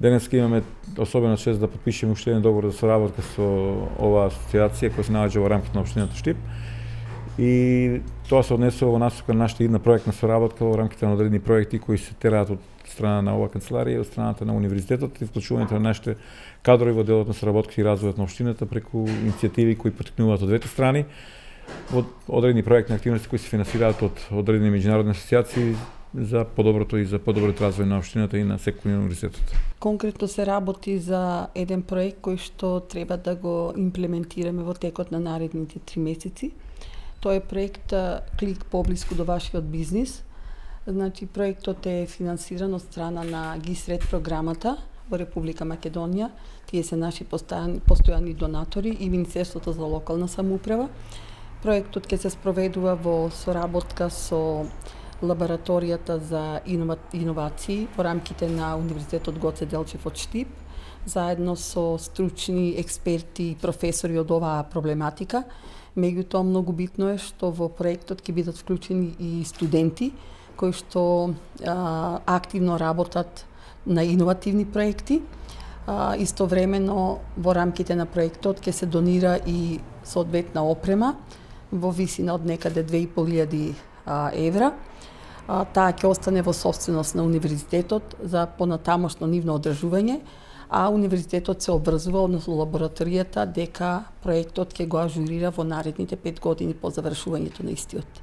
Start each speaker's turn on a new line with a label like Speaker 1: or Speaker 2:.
Speaker 1: Денеска имаме особена чест да потпишеме уште еден договор за соработка со оваа асоциација која се наоѓа во рамките на општината Штип. И тоа се однесува во насока на нашата идна проектна соработка во рамките на одредени проекти кои се тераат од страна на оваа канцеларија и од страната на универзитетот и вклучувањето на нашите кадрови во делот на соработката и развојот на општината преку иницијативи кои поттикнуваат од двете страни во одредени проектни активности кои се финансираат од одредени меѓународни асоциации за подоброто и за подоброт развој на општината и на секој универзитетот.
Speaker 2: Конкретно се работи за еден проект кој што треба да го имплементираме во текот на наредните 3 месеци. Тоа е проект Клик поблиску до вашиот бизнис. Значи, проектот е финансиран од страна на ГИСРЕД програмата во Република Македонија. Тие се наши постојани донатори и Министерството за локална самоуправа. Проектот ќе се спроведува во соработка со лабораторијата за иновации во рамките на Универзитетот Гоце Делчев од Штип, заедно со стручни експерти и професори од оваа проблематика. Меѓутоа, многу битно е што во проектот ќе бидат вклучени и студенти кои што активно работат на иновативни проекти. Истовремено во рамките на проектот ќе се донира и соодветна опрема во висина од некаде 2500 евра. Таа ќе остане во собственост на универзитетот за понатамошно нивно одржување, а универзитетот се обврзува, односно лабораторијата, дека проектот ќе го ажурира во наредните 5 години по завршувањето на истиот.